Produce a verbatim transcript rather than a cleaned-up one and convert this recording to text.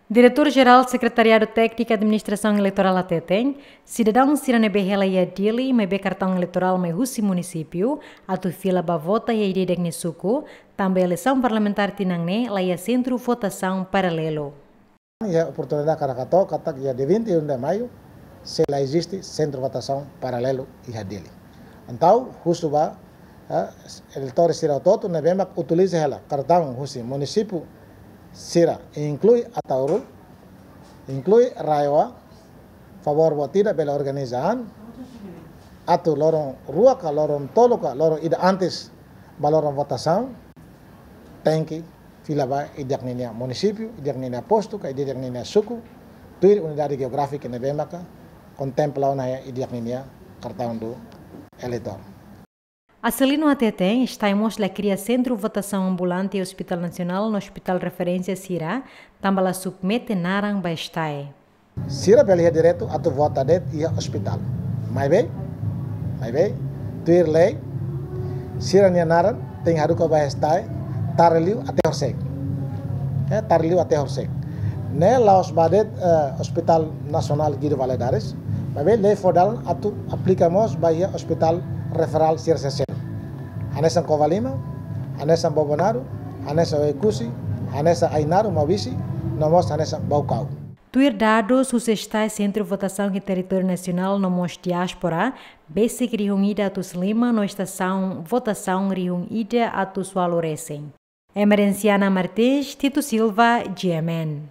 Diretór Jerál Sekretariadu Tékniku Administrasaun Eleitorál hateten, sidadaun sira ne'ebé hela iha Dili maibé kartaun eleitorál mai husi munisípiu, atu fila ba vota iha ida-idak nia suku, tanba eleisaun parlamentár tinan ne'e la iha sentru votasaun paralelu. Iha oportunidade hakarak hato'o katak iha dia vinte e um de maio sei la eziste sentru votasaun paralelu iha Dili. Entaun, husu ba, eh, eleitór sira hotu-hotu ne'ebé mak utiliza hela kartaun husi munisípiu sira, inklui Ataúru, inklui RAEOA, favór buat ida bele organiza an, atu loron rua ka loron tolu ka loron ida antes ba loron votasaun, tenke fila ba ida-idak ninia munisípiu, ida-idak ninia postu ka ida-idak ninia suku, tuir unidade jeográfika ne'ebé maka kontempla ona iha ida-idak ninia kartaun do eleitór. Acelino hateten, STAE mós la kria sentru votasaun ambulante Hospitál Nasionál no Hospitál Referénsia sira, tanba la submete naran ba STAE. Sira bele iha direitu atu vota de'it iha ospitál. Maibé, maibé, tuir lei, sira-nia naran tenke haruka ba STAE, tarliu até horisehik. Eh, tarliu até horisehik. Ne'e la'ós ba de'it, eh, Hospitál Nasionál Guido Valadares, maibé lei fó dalan atu aplika mós ba iha ospitál referál sira seluk. Hanesan Covalima, hanesan Bobonaro, hanesan Oekusi, hanesan Ainaro, Maubisse, no mós hanesan Baucau. Tuir dadus husi STAE, sentru votasaun iha territóriu nasionál no mós diáspora, besik rihun ida atus lima no estasaun votasaun rihun ida atus ualu resin. Emerenciana Martins, Tito Silva, G M N.